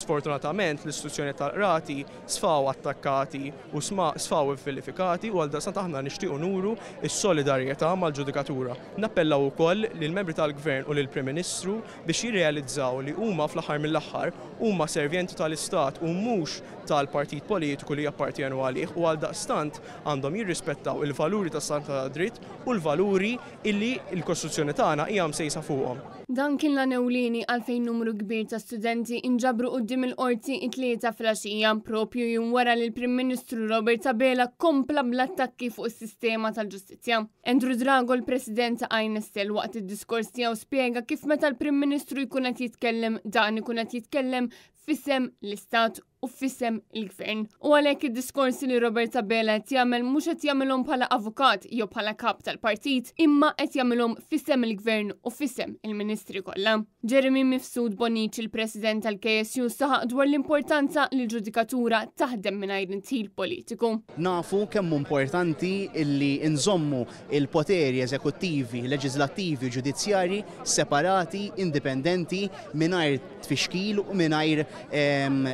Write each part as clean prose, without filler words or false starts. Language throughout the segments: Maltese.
Sfortunatament l-istituzzjoni tal-qrati sfaw attakkati u sfaw vilifikati u għaldaqstant aħna nixtiequ nuru s-solidarjetà mal-ġudikatura. Nappellaw ukoll lill-membri tal-Gvern u lill-Prim Ministru biex jirrealizzaw li huma fl-aħħar mill-aħħar huma servjenti tal-Istat u mhux tal-partit politiku li jappartjenu għalih u għaldaqstant għandhom jirrispettaw il-valuri tas-saltna tad-dritt u l-valuri illi l-Kostituzzjoni tagħna hija msejsa fuqhom. Dan kien l-għan ewlieni għalfejn numru kbir ta' studenti inġabru quddiem il-Qorti it-Tlieta filgħaxija, propju jum wara li l-Prim Ministru Robert Abela kompla bl-attakki fuq is-sistema tal-ġustizzja. Andrew Drago, l-President ta' INSL, waqt id-diskors tiegħu spjega kif meta l-Prim Ministru jkun qed jitkellem, dan ikun qed jitkellem f'isem l-Istat u f'isem il-Gvern. U għalhekk id-diskorsi li Robert Abela qed jagħmel mhux qed jagħmilhom bħala avukat jew bħala kap tal-partit, imma qed jagħmilhom f'isem il-Gvern u f'isem il-Ministri kollha. Jeremy Mifsud Bonnici, il-President tal-KSU, saħaq dwar l-importanza li l-ġudikatura taħdem mingħajr indħil politiku. Nafu kemm hu importanti illi nżommu il-poteri eżekuttivi, leġislattivi u ġudizzjarji separati, indipendenti, mingħajr tfixkil u mingħajr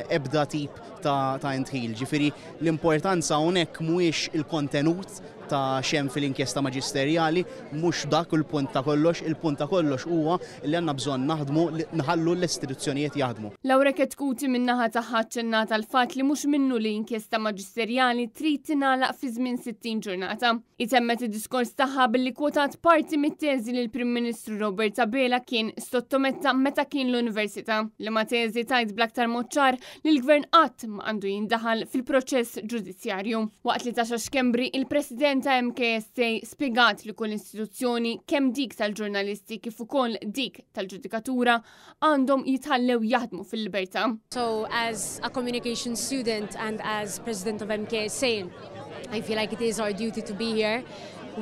ebda tip ta' indħil. Ġifieri l-importanza hawnhekk mhuwiex il-kontenut ta' x'hemm fil-inkjesta maġisterjali, mhux dak il-punt ta' kollox, il-punt ta' kollox huwa li għandna bżonn naħdmu, nħallu l-istituzzjonijiet jaħdmu. Laura Chetcuti min-naħa tagħha aċċennat għall-fatt li mhux minnu li inkjesta maġisterjali trid tingħalaq fi żmien 60 ġurnata. Hi temmet id-diskors tagħha billi kwotat parti mit-teżi li l-Prim Ministru Robert Abela kien sottometta meta kien l-Università, liema teżi tgħid bl-aktar mod ċar li l-Gvern qatt ma għandu jindaħal fil-proċess ġudizzjarju. Waqt li Tasha Schembri, il-President ta' MKSA, spjegat li kull istituzzjoni, kemm dik tal-ġurnalisti kif ukoll dik tal-ġudikatura, għandhom jitħallew jaħdmu fil-libertà. So as a communication student and as president of MKSA, I feel like it is our duty to be here.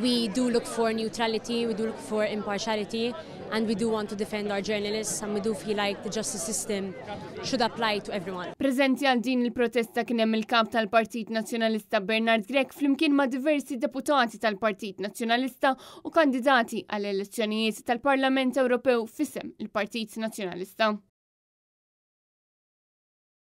We do look for neutrality, we do look for impartiality, and we do want to defend our journalists, and we do feel like the justice system should apply to everyone. Preżenti għal din il-protesta kien hemm il-kap tal-Partit Nazzjonalista Bernard Grech flimkien ma' diversi deputati tal-Partit Nazzjonalista u kandidati għall-elezzjonijiet tal-Parlament Ewropew f'isem il-Partit Nazzjonalista.